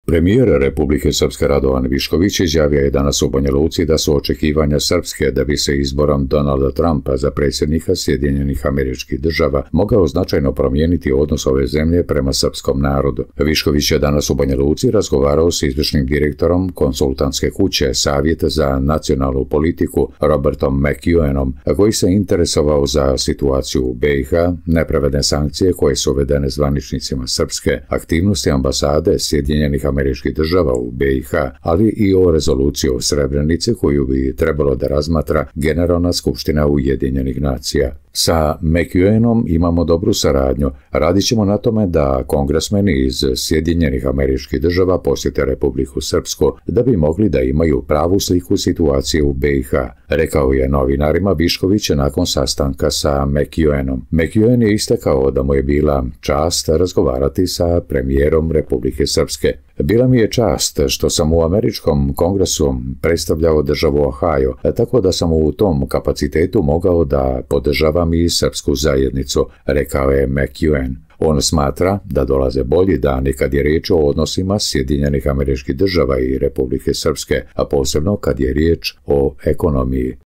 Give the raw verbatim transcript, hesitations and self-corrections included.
Premijer Republike Srpske Radovan Višković izjavio je danas u Banja Luci da su očekivanja Srpske da bi se izborom Donalda Trumpa za predsjednika Sjedinjenih Američkih Država mogao značajno promijeniti odnos ove zemlje prema srpskom narodu. Višković je danas u Banja Luci razgovarao s izvršnim direktorom konsultantske kuće Savjet za nacionalnu politiku Robertom McEwenom, koji se interesovao za situaciju u B i H, nepravedne sankcije koje su uvedene zvaničnicima Srpske, aktivnosti ambasade Sjedinjenih Američkih Država u B i H, ali i o rezoluciji o Srebrenici koju bi trebalo da razmatra Generalna skupština Ujedinjenih nacija. Sa McEwenom imamo dobru saradnju. Radit ćemo na tome da kongresmeni iz Sjedinjenih Američkih Država posjete Republiku Srpsku da bi mogli da imaju pravu sliku situacije u B i H, rekao je novinarima Višković nakon sastanka sa McEwenom. McEwen je istakao da mu je bila čast razgovarati sa premijerom Republike Srpske. Bila mi je čast što sam u američkom kongresu predstavljao državu Ohio, tako da sam u tom kapacitetu mogao da podržavam i srpsku zajednicu, rekao je McEwen. On smatra da dolaze bolji dani kad je riječ o odnosima Sjedinjenih Američkih Država i Republike Srpske, a posebno kad je riječ o ekonomiji.